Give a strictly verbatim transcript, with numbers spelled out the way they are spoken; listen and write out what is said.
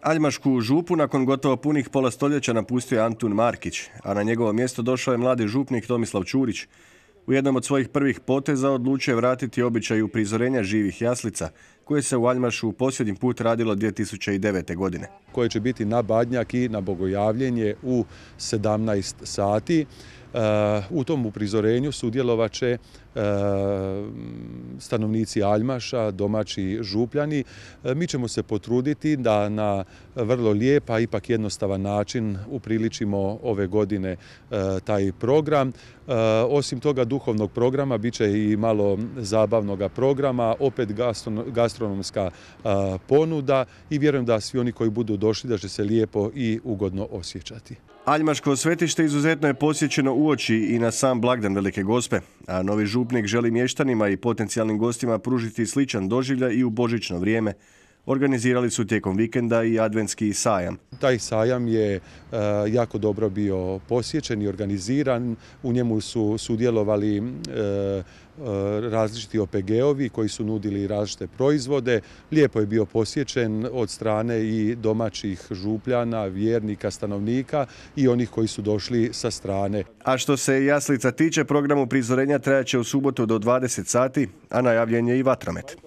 Aljmašku župu nakon gotovo punih pola stoljeća napustio je Antun Markić, a na njegovo mjesto došao je mladi župnik Tomislav Ćurić. U jednom od svojih prvih poteza odlučio je vratiti običaj uprizorenja živih jaslica, koje se u Aljmašu posljednji put radilo dvije tisuće devete. godine. Koje će biti na Badnjak i na Bogojavljenje u sedamnaest sati. U tom uprizorenju sudjelovat će stanovnici Aljmaša, domaći župljani. Mi ćemo se potruditi da na vrlo lijep, a ipak jednostavan način upriličimo ove godine taj program. Osim toga duhovnog programa bit će i malo zabavnog programa, opet gastronomska ponuda i vjerujem da svi oni koji budu došli da će se lijepo i ugodno osjećati. Aljmaško svetište izuzetno je posjećeno uoči i na sam blagdan Velike Gospe, a novi župnik želi mještanima i potencijalnim gostima pružiti sličan doživljaj i u božićno vrijeme. Organizirali su tijekom vikenda i adventski sajam. Taj sajam je jako dobro bio posjećen i organiziran. U njemu su sudjelovali različiti O P G-ovi koji su nudili različite proizvode. Lijepo je bio posjećen od strane i domaćih župljana, vjernika, stanovnika i onih koji su došli sa strane. A što se jaslica tiče, program uprizorenja trajaće u subotu do dvadeset sati, a najavljen je i vatromet.